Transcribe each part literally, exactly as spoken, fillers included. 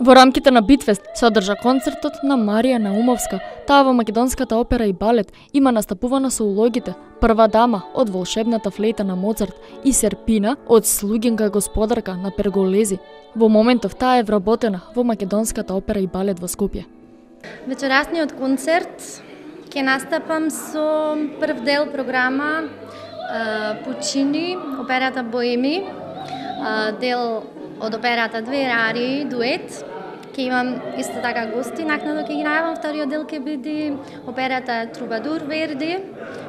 Во рамките на Битфест се одржа концертот на Марија Наумовска. Таа во македонската опера и балет има настапувана со улогите Прва дама од Волшебната флейта на Моцарт и Серпина од Слугинка господарка на Перголези. Во моментов таа е вработена во македонската опера и балет во Скопје. Вечерасниот концерт ќе настапам со прв дел програма Пучини, операта Боеми, дел од операта Две арии, дует. Ќе имам исто така гости, накнадо ќе ги најавам. Вториот дел ќе биде операта Трубадур Верди,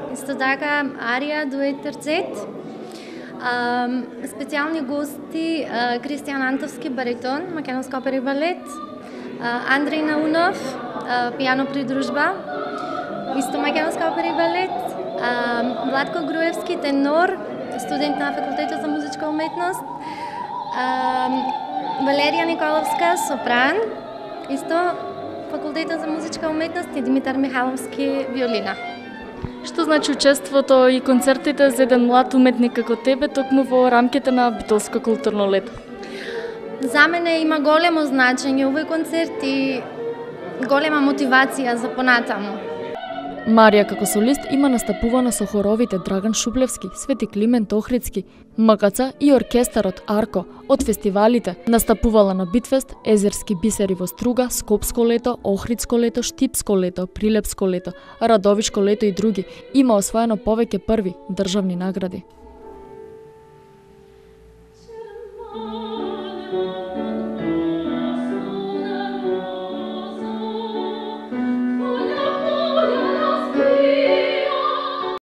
исто така арија, дует, терцет. Специјални гости Кристијан Антовски, баритон, македонска опера и балет, Андреј Наунов, пијано придружба, исто македонска опера и балет, Владко Груевски, тенор, студент на факултетот за музичка уметност, Валерија Николовска, сопран, исто факултетот за музичка уметност, и Димитар Михаловски, виолина. Што значи учеството и концертите за еден млад уметник како тебе токму во рамките на Битолско културно лето? За мене има големо значење овој концерт и голема мотивација за понатаму. Марија како солист има настапувана со хоровите Драган Шублевски, Свети Климент Охридски, МКЦ и оркестарот Арко. Од фестивалите настапувала на Битфест, Езерски бисери во Струга, Скопско лето, Охридско лето, Штипско лето, Прилепско лето, Радовишко лето и други. Има освоено повеќе први државни награди.